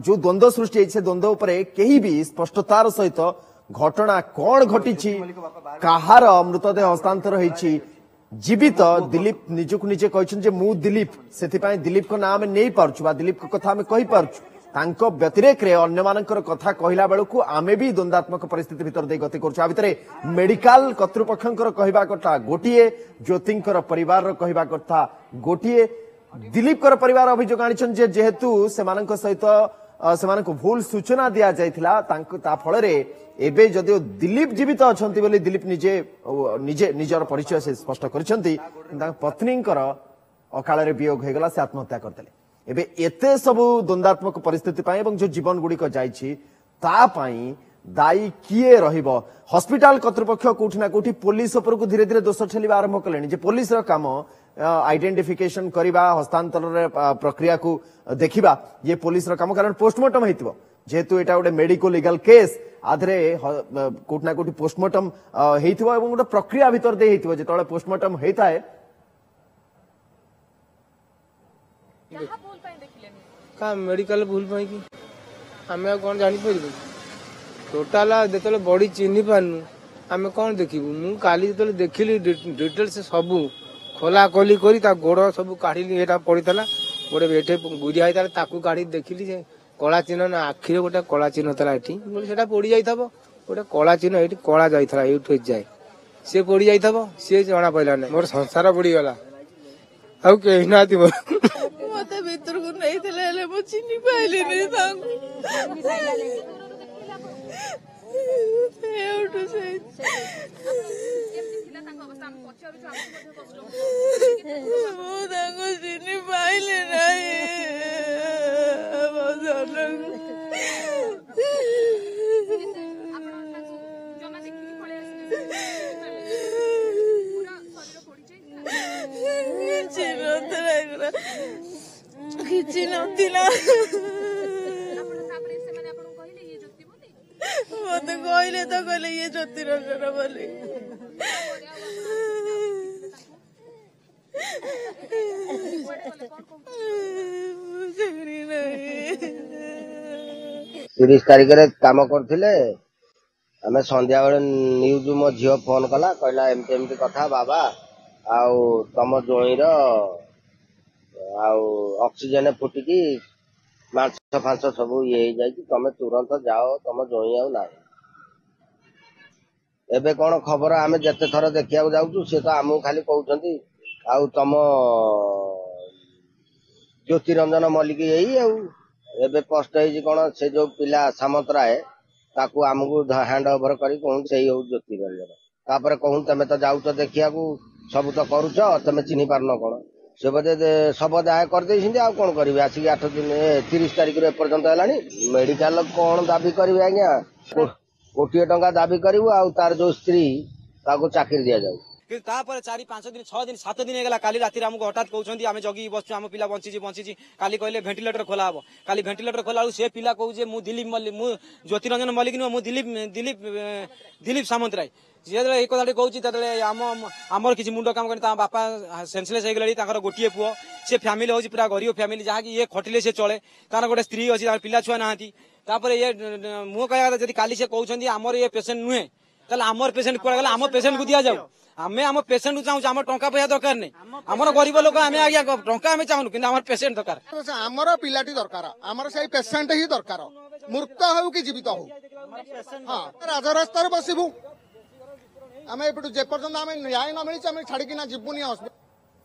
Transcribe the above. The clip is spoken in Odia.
ଯୋଉ ଦ୍ୱନ୍ଦ୍ୱ ସୃଷ୍ଟି ହେଇଛି, ସେ ଦ୍ୱନ୍ଦ୍ୱ ଉପରେ କେହି ବି ସ୍ପଷ୍ଟତାର ସହିତ ଘଟଣା କଣ ଘଟିଛି, କାହାର ମୃତଦେହ ହସ୍ତାନ୍ତର ହେଇଛି। ଜୀବିତ ଦିଲ୍ଲୀପ ନିଜକୁ ନିଜେ କହିଛନ୍ତି ଯେ ମୁଁ ଦିଲ୍ଲୀପ, ସେଥିପାଇଁ ଦିଲ୍ଲୀପଙ୍କ ନାଁ ଆମେ ନେଇପାରୁଛୁ ବା ଦିଲ୍ଲୀପଙ୍କ କଥା ଆମେ କହିପାରୁଛୁ। ତାଙ୍କ ବ୍ୟତିରେକରେ ଅନ୍ୟମାନଙ୍କର କଥା କହିଲା ବେଳକୁ ଆମେ ବି ଦ୍ୱନ୍ଦାତ୍ମକ ପରିସ୍ଥିତି ଭିତରେ ଦେଇ ଗତି କରୁଛୁ। ଆ ଭିତରେ ମେଡିକାଲ କର୍ତ୍ତୃପକ୍ଷଙ୍କର କହିବା କଥା ଗୋଟିଏ, ଜ୍ୟୋତିଙ୍କର ପରିବାରର କହିବା କଥା ଗୋଟିଏ। ଦିଲ୍ଲୀପଙ୍କର ପରିବାର ଅଭିଯୋଗ ଆଣିଛନ୍ତି ଯେ ଯେହେତୁ ସେମାନଙ୍କ ସହିତ ସେମାନଙ୍କୁ ଭୁଲ ସୂଚନା ଦିଆଯାଇଥିଲା ତାଙ୍କୁ, ତା ଫଳରେ ଏବେ ଯଦିଓ ଦିଲ୍ଲୀପ ଜୀବିତ ଅଛନ୍ତି ବୋଲି ଦିଲ୍ଲୀପ ନିଜେ ନିଜେ ନିଜର ପରିଚୟ ସେ ସ୍ପଷ୍ଟ କରିଛନ୍ତି, ତାଙ୍କ ପତ୍ନୀଙ୍କର ଅକାଳରେ ବିୟୋଗ ହେଇଗଲା, ସେ ଆତ୍ମହତ୍ୟା କରିଦେଲେ। ଏବେ ଏତେ ସବୁ ଦ୍ୱନ୍ଦାତ୍ମକ ପରିସ୍ଥିତି ପାଇଁ ଏବଂ ଯୋଉ ଜୀବନ ଗୁଡ଼ିକ ଯାଇଛି ତା ପାଇଁ ଦାୟୀ କିଏ ରହିବ? ହସ୍ପିଟାଲ କର୍ତ୍ତୃପକ୍ଷ କୋଉଠି ନା କୋଉଠି ପୋଲିସ ଉପରକୁ ଧୀରେ ଧୀରେ ଦୋଷ ଠେଲିବା ଆରମ୍ଭ କଲେଣି ଯେ ପୋଲିସର କାମ ଆଇଡେଣ୍ଟିଫିକେସନ କରିବା, ହସ୍ତାନ୍ତରରେ ପ୍ରକ୍ରିୟାକୁ ଦେଖିବା, ଇଏ ପୋଲିସର କାମ। କାରଣ ପୋଷ୍ଟମର୍ଟମ ହେଇଥିବ, ଯେହେତୁ ଏଇଟା ଗୋଟେ ମେଡିକୋ ଲିଗାଲ କେସ୍, ଆଧରେ କୋଉଠି ନା କୋଉଠି ପୋଷ୍ଟମର୍ଟମ ହେଇଥିବ ଏବଂ ଗୋଟେ ପ୍ରକ୍ରିୟା ଭିତରେ ଦେଇ ହେଇଥିବ। ଯେତେବେଳେ ପୋଷ୍ଟମର୍ଟମ ହେଇଥାଏ, ମେଡିକାଲ ଭୁଲ ପାଇଁ କି ଆମେ ଆଉ କଣ ଜାଣିପାରିବୁ? ଟୋଟାଲ ଯେତେବେଳେ ବଡି ଚିହ୍ନି ପାରୁନୁ ଆମେ କଣ ଦେଖିବୁ? ମୁଁ କାଲି ଯେତେବେଳେ ଦେଖିଲି ଡିଟେଲ୍ସ ସବୁ ଖୋଲା ଖୋଲି କରି ତା ଗୋଡ ସବୁ କାଢିଲି, ଏଟା ପଡିଥିଲା ଗୋଟେ ଏଠି ଗୁରିଆ ହେଇଥିଲା, ତାକୁ କାଢି ଦେଖିଲି ଯେ କଳା ଚିହ୍ନ ନା ଆଖିରେ ଗୋଟେ କଳା ଚିହ୍ନ ଥିଲା ଏଠି, ସେଟା ପୋଡି ଯାଇଥିବ। ଗୋଟେ କଳା ଚିହ୍ନ ଏଇଠି କଳା ଯାଇଥିଲା ଏଇଠୁ ଯାଏ, ସିଏ ପୋଡି ଯାଇଥିବ, ସିଏ ଜଣା ପଡିଲା ନାହିଁ। ମୋର ସଂସାର ବୁଡିଗଲା, ଆଉ କେହି ନାହାନ୍ତି ମୋର। ମତେ ଭିତରକୁ ନେଇଥିଲେ, ହେଲେ ମୁଁ ଚିହ୍ନି ପାଇଲିନି ତାଙ୍କୁ। ଏଉଠୁ ସେଇ ମୁଁ ତାଙ୍କୁ ଚିହ୍ନି ପାଇଲି ନାହିଁ। କିଛି ନଥିଲା, ଏଗୁରା କିଛି ନଥିଲା। ମତେ କହିଲେ ତ, କହିଲେ ଇଏ ଜ୍ୟୋତି ରଞ୍ଜନ ବୋଲି। ତିରିଶ ତାରିଖରେ କାମ କରୁଥିଲେ। ଆମେ ସନ୍ଧ୍ୟାବେଳେ ନ୍ୟୁଜ ମୋ ଝିଅ ଫୋନ କଲା, କହିଲା ଏମିତି ଏମିତି କଥା ବାବା, ଆଉ ତମ ଜୋଇଁର ଆଉ ଅକ୍ସିଜେନ ଫୁଟିକି ମାଂସ ଫାଂସ ସବୁ ଇଏ ହେଇଯାଇଛି, ତମେ ତୁରନ୍ତ ଯାଅ, ତମ ଜୋଇଁ ଆଉ ନାହିଁ। ଏବେ କଣ ଖବର? ଆମେ ଯେତେ ଥର ଦେଖିବାକୁ ଯାଉଛୁ ସେ ତ ଆମକୁ ଖାଲି କହୁଛନ୍ତି ଆଉ ତମ ଜ୍ୟୋତିରଞ୍ଜନ ମଲ୍ଲିକ ଏଇ। ଆଉ ଏବେ କଷ୍ଟ ହେଇଛି କଣ, ସେ ଯୋଉ ପିଲା ସାମନ୍ତରାୟ ତାକୁ ଆମକୁ ହ୍ୟାଣ୍ଡ ଓଭର କରି କହୁଛନ୍ତି ସେଇ ହଉଛି ଜ୍ୟୋତିରଞ୍ଜନ। ତାପରେ କହୁନ ତମେ ତ ଯାଉଛ ଦେଖିବାକୁ, ସବୁ ତ କରୁଛ, ତମେ ଚିହ୍ନି ପାରୁନ କଣ? ସେ ବୋଧେ ଶବ ଦାହ କରିଦେଇଛନ୍ତି, ଆଉ କଣ କରିବେ? ଆସିକି 8 ଦିନ, 30 ତାରିଖରୁ ଏପର୍ଯ୍ୟନ୍ତ ହେଲାଣି। ମେଡିକାଲ କଣ ଦାବି କରିବେ ଆଜ୍ଞା? କୋଟିଏ ଟଙ୍କା ଦାବି କରିବୁ, ଆଉ ତାର ଯୋଉ ସ୍ତ୍ରୀ ତାକୁ ଚାକିରି ଦିଆଯାଉ। କିନ୍ତୁ ତାପରେ 4 5 ଦିନ, 6 ଦିନ, 7 ଦିନ ହେଇଗଲା। କାଲି ରାତିରେ ଆମକୁ ହଠାତ୍ କହୁଛନ୍ତି, ଆମେ ଜଗିକି ବସୁଛୁ, ଆମ ପିଲା ବଞ୍ଚିଛି ବଞ୍ଚିଛି। କାଲି କହିଲେ ଭେଣ୍ଟିଲେଟର ଖୋଲା ହବ। କାଲି ଭେଣ୍ଟିଲେଟର ଖୋଲା ବେଳକୁ ସେ ପିଲା କହୁଛି ମୁଁ ଦିଲ୍ଲୀପ ମଲ୍ଲିକ, ମୁଁ ଜ୍ୟୋତିରଞ୍ଜନ ମଲ୍ଲିକ ନୁହଁ, ମୁଁ ଦିଲ୍ଲୀପ ଦିଲ୍ଲୀପ ଦିଲ୍ଲୀପ ସାମନ୍ତରାୟ। ଯେତେବେଳେ ଏଇ କଥାଟି କହୁଛି ତେତେବେଳେ ଆମର କିଛି ମୁଣ୍ଡ କାମ କରେନି। ତାଙ୍କ ବାପା ସେନ୍ସଲେସ୍ ହେଇଗଲେଣି, ତାଙ୍କର ଗୋଟିଏ ପୁଅ, ସେ ଫ୍ୟାମିଲି ହଉଛି ପୁରା ଗରିବ ଫ୍ୟାମିଲି, ଯାହାକି ଇଏ ଖଟିଲେ ସେ ଚଳେ। ତାଙ୍କର ଗୋଟେ ସ୍ତ୍ରୀ ଅଛି, ତାଙ୍କର ପିଲା ଛୁଆ ନାହାନ୍ତି। ତାପରେ ଇଏ ମୁଁ କହିବା କଥା, ଯଦି କାଲି ସେ କହୁଛନ୍ତି ଆମର ଇଏ ପେସେଣ୍ଟ ନୁହେଁ, ତାହେଲେ ଆମର ପେସେଣ୍ଟ କୁଆଡେ ଗଲା? ଆମ ପେସେଣ୍ଟକୁ ଦିଆଯାଉ। ଆମେ ଆମ ପେସେଣ୍ଟକୁ ଚାହୁଁଛୁ, ଆମର ଟଙ୍କା ପଇସା ଦରକାର ନାହିଁ। ଆମର ଗରିବ ଲୋକ ଆମେ ଆଜ୍ଞା, ଟଙ୍କା ଆମେ ଚାହୁଁନୁ, କିନ୍ତୁ ଆମର ପେସେଣ୍ଟ ଦରକାର। ଆମର ପିଲାଟି ଦରକାର, ଆମର ସେଇ ପେସେଣ୍ଟ ହିଁ ଦରକାର, ମୃତ ହଉ କି ଜୀବିତ ହଉ। ହଁ, ରାଜରାସ୍ତାରେ ବସିବୁ ଆମେ ଏପଟୁ, ଯେପର୍ଯ୍ୟନ୍ତ ଆମେ ନ୍ୟାୟ ନ ମିଳିଛି ଆମେ ଛାଡିକିନା ଯିବୁନି।